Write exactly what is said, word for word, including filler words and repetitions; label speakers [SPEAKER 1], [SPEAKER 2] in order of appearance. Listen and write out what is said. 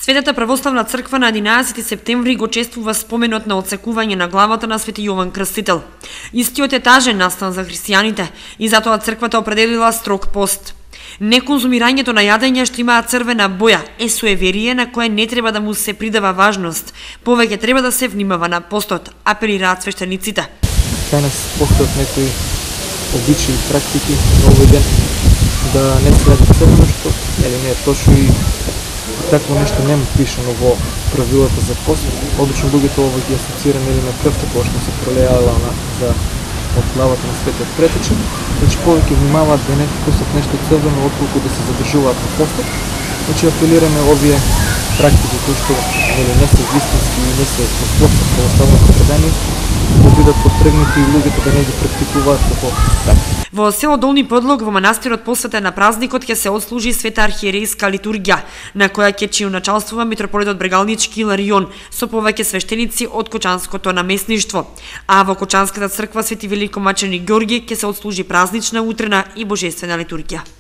[SPEAKER 1] Светата православна црква на единаесети септември го чествува споменот на отсекување на главата на Свети Јован Крстител. Истиот е тажен настан за христијаните и затоа црквата определила строг пост. Неконзумирањето на јадење што имаат црвена боја е суеверие на кое не треба да му се придава важност. Повеќе треба да се внимава на постот, апелираат свештениците.
[SPEAKER 2] Кај нас постојат некои обичаи и практики на овој ден да не се јаде црвено, што или не е точно и такво нешто нема пишано во правилата за пост. Обично луѓето ова ги асоцира нели на крвта која што се пролеала на за од главата на Светиот Претечен, значи повеќе внимаваат да не вкусат нешто црвено отколку да се задржуваат на постот. Значи апелираме овие практики кои што нели не се вистински и не се спортот православното предание да бидат потргнати и луѓето да не ги практикуваат како такви.
[SPEAKER 1] Во село Долни Подлог во манастирот посветен на празникот ќе се отслужи света архиерейска литургија, на која ќе чиуначалствува митрополитот Брегалнички Иларион со повеќе свештеници од Кочанското наместништво. А во Кочанската црква Свети Великомаченик Ѓорги ќе се отслужи празнична утрена и божествена литургија.